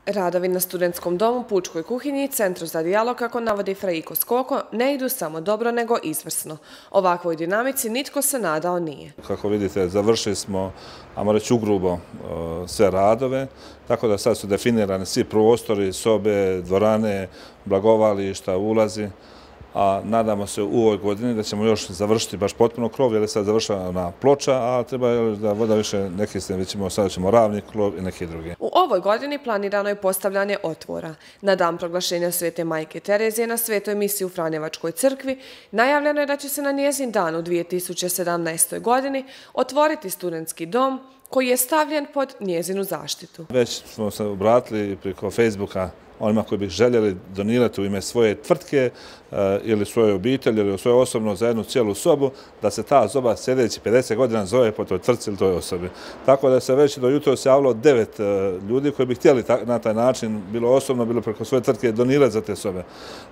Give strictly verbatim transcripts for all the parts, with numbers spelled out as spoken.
Radovi na studentskom domu, pučkoj kuhinji i centru za dijalog, kako navodi Frejko Skoko, ne idu samo dobro nego izvrsno. Ovakvoj dinamici nitko se nadao nije. Kako vidite, završili smo, ajmo reći ugrubo, sve radove, tako da sad su definirani svi prostori, sobe, dvorane, blagovališta, ulazi. A nadamo se u ovoj godini da ćemo još završiti baš potpuno krov, jer je sad završena na ploča, a treba da voda više neki se, već ćemo, sad ćemo ravni krov i neki drugi. U ovoj godini planirano je postavljanje otvora. Na dan proglašenja Svete Majke Terezije na Svetoj misiji u Franjevačkoj crkvi najavljeno je da će se na njezin dan u dvije tisuće sedamnaestoj. godini otvoriti studentski dom koji je stavljen pod njezinu zaštitu. Već smo se obratili preko Facebooka onima koji bi željeli donirati u ime svoje tvrtke ili svoje obitelji ili svoje osobno za jednu cijelu sobu, da se ta soba sljedeći pedeset godina zove po toj tvrtci ili toj osobi. Tako da se već do jutro se javilo devet ljudi koji bi htjeli na taj način, bilo osobno, bilo preko svoje tvrtke, donirati za te sobe.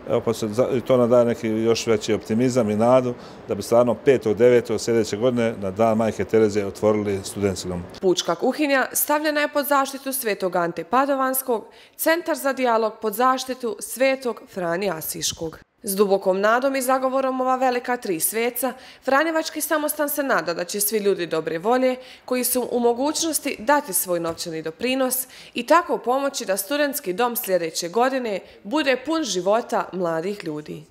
Evo, pa se to nam daje neki još veći optimizam i nadu da bi stvarno petog devetog sljedeće godine na dan Majke Terezije otvorili studentski dom. Pučka kuhinja stavljena je pod zaštitu Svetog Ante Padovanskog, centar za dijalog pod zaštitu Svetog Franje Asiškog. S dubokom nadom i zagovorom ova velika tri sveca, Franjevački samostan se nada da će svi ljudi dobre volje, koji su u mogućnosti dati svoj novčani doprinos i tako pomoći da studentski dom sljedeće godine bude pun života mladih ljudi.